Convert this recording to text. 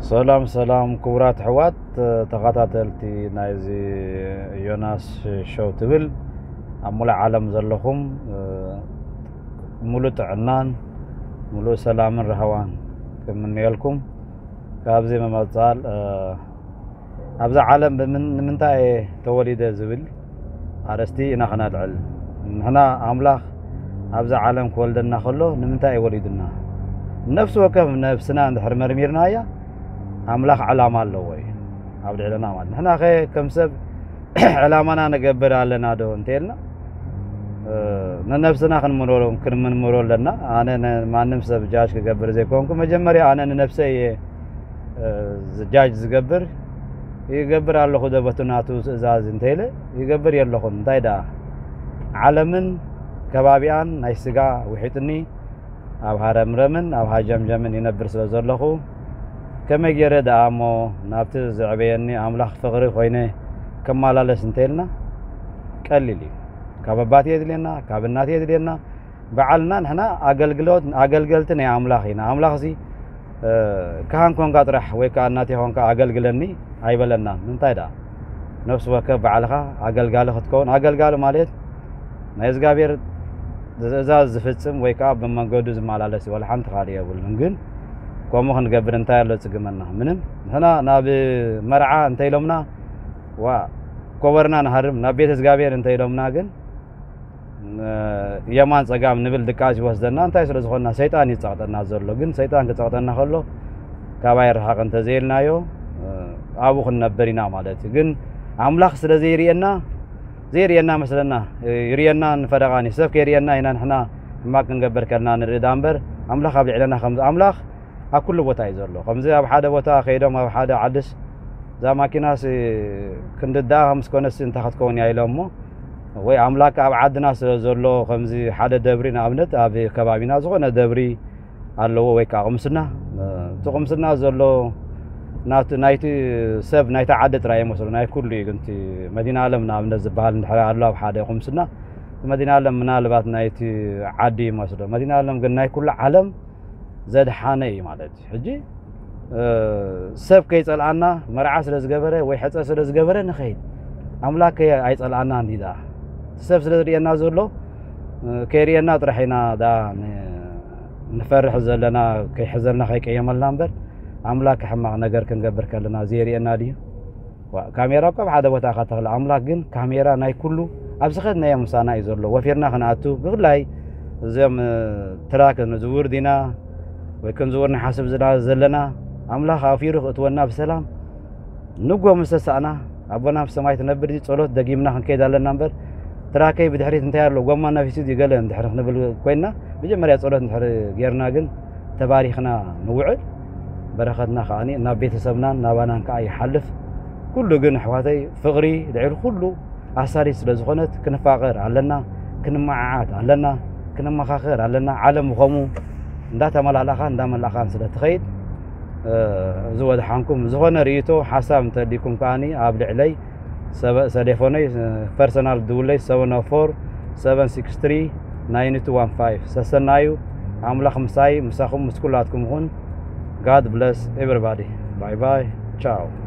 ሰላም ሰላም ክቡራት ኣሕዋት ተኸታተልቲ ናይዚ ዮናስ ሾው ትብል ኣብ ሙሉእ ዓለም ዘለኹም ሙሉእ ጥዕናን ሙሉእ ሰላምን ራህዋን ክምንየልኩም። ካብዚ መመጻል ኣብዛ ዓለም ብምንታይ ተወሊደ ዝብል ኣርእስቲ ኢና ክነልዕል። ንሕና ኣምላኽ ኣብዛ ዓለም ክወልደና ከሎ ንምንታይ እዩ ወሊዱና? ነፍሲ ወከፍ ነብስና እንድሕር መርሚርናያ ኣምላኽ ዕላማ ኣለዎ እዩ ኣብ ልዕለና። ማለት ንሕና ከ ከም ሰብ ዕላማና ንገብር ኣለና ዶ እንተልና ንነብስና ክንምርምሮ ኣለና። ኣነ ማንም ሰብ ጃጅ ክገብር ዘይኮንኩ መጀመርያ ኣነ ንነብሰይ እየ ጃጅ ዝገብር። ይገብር ኣለኹ ዶ በቲ ናቱ ትእዛዝ እንተኢለ ይገብር የለኹን። እንታይ ደኣ ዓለምን ከባቢኣን ናይ ስጋ ውሒጥኒ ኣብ ሃረምረምን ኣብ ሃጀምጀምን ይነብር ስለ ዘለኹ ከመይ ገይረ ደኣ እሞ ናብቲ ዘዕበየኒ ኣምላኽ ፍቕሪ ኮይነ ከመላለስ እንተኢልና ቀሊል እዩ። ካብ ኣባት የድልየና፣ ካብ እናት የድልየና። ባዓልና ንሕና ኣገልግሎት ኣገልገልቲ ናይ ኣምላኽ ኢና። ኣምላኽ እዚ ካህን ኮንካ ጥራሕ ወይ ከዓ እናት ኮንካ ኣገልግለኒ ኣይበለናን። እንታይ ደኣ ነፍሲ ወከፍ ባዕልኻ ኣገልጋሊ ክትከውን። ኣገልጋሊ ማለት ናይ እግዚኣብሔር ትእዛዝ ዝፍጽም ወይ ከዓ ብመንገዱ ዝመላለስ እዩ። ዋላ ሓንቲ ካልእ የብሉን። ግን ከምኡ ክንገብር እንታይ ኣሎ ጽግመና? ምንም። ንሕና ናብ መርዓ እንተኢሎምና ዋ ኮበርና ንሃርም፣ ናብ ቤተ እግዚኣብሔር እንተኢሎምና ግን የማን ጸጋም ንብል ድቃስ ይወስደና። እንታይ ስለ ዝኾንና ሰይጣን ይጸቕጠና ዘሎ። ግን ሰይጣን ክጸቕጠና ከሎ ካባይ ርሓቕ እንተዘይልናዮ ኣብኡ ክንነብር ኢና ማለት እዩ። ግን ኣምላኽ ስለ ዘይርእየና ዘይርእየና መስለና ይርእየና ንፈረቓኒ ሰብ ከይርእየና ኢና ንሕና ሕማቅ ክንገብር ከልና ንርኢ ዳ እምበር ኣምላኽ ኣብ ልዕለና ከም ኣምላኽ ኣብ ኩሉ ቦታ እዩ ዘሎ። ከምዚ ኣብ ሓደ ቦታ ከይዶም ኣብ ሓደ ዓድስ እዛ ማኪናስ ክንድዳኣ ምስ ኮነስ እንታይ ክትከውን እያ ኢሎም እሞ ወይ ኣምላክ ኣብ ዓድና ስለ ዘሎ ከምዚ ሓደ ደብሪ ንኣብነት ኣብ ከባቢና ዝኾነ ደብሪ ኣለዎ ወይ ከዓ ቁምስና እቲ ቁምስና ዘሎ ናይቲ ሰብ ናይቲ ዓዲ ጥራይ ይመስሉ ናይ ኩሉ እዩ። ግን መዲና ኣለም ንኣብነት ዝበሃል እንድሕር ኣሎ ኣብ ሓደ ቁምስና መዲና ኣለም ምናልባት ናይቲ ዓዲ ይመስሎ መዲና ኣለም ግን ናይ ኩሉ ዓለም ዘድሓነ እዩ ማለት እዩ። ሕጂ ሰብ ከይጸልኣና መርዓ ስለ ዝገበረ ወይ ሕጸ ስለ ዝገበረ ንኸይድ ኣምላክ ኣይጸልኣና እንዲ ደኣ ሰብ ስለ ዝርእየና ዘሎ ከይርእየና ጥራሕ ኢና ደኣ ንፈርሕ ዘለና ከይሕዘልና ከይቀየመልና እምበር ኣምላክ ሕማቕ ነገር ክንገብር ከለና ዘይርእየና ድዩ? ካሜራ እኳ ኣብ ሓደ ቦታ ኢኻ ተኽለ ኣምላክ ግን ካሜራ ናይ ኩሉ ኣብ ዝኸድናዮ ምሳና እዩ ዘሎ። ወፊርና ክንኣቱ ብፍላይ እዚኦም ትራክ ንዝውር ዲና ወይ ክንዝውር ንሓስብ ዘለና ኣምላኽ ኣውፊሩ ክእትወና ብሰላም ንጎ ምስ ተሳእና ኣቦና ብሰማይ ትነብር ጸሎት ደጊምና ክንከይድ ኣለና እምበር ትራከይ ብድሕሪት እንታይ ኣሎ ጎማ ናፊሱ ገለ እንድሕር ክንብል ኮይንና መጀመርያ ጸሎት እንድሕር ጌርና ግን ተባሪኽና ንውዕል በረኸትና ከዓ ናብ ቤተሰብናን ናባናን ከዓ ይሓልፍ። ኩሉ ግን ኣሕዋተይ ፍቕሪ ልዕሊ ኩሉ ኣሳሪት ስለ ዝኾነት ክንፋቐር ኣለና፣ ክንመዓዓት ኣለና፣ ክንመኻኸር ኣለና። ዓለም ከምኡ እንዳተመላለኣኻን እንዳመላእኻን ስለ ትኸይድ ዝወድሓንኩም ዝኾነ ርእይቶ ሓሳብ እንተሊኩም ከዓኒ ኣብ ልዕለይ ሰሌፎነይ ፐርሰናል ድውለይ 704 763 9215 ሰሰናዩ ኣምላኽ ምሳይ ምሳኹም ምስ ኩላትኩም ይኹን። God bless everybody. Bye bye. Ciao.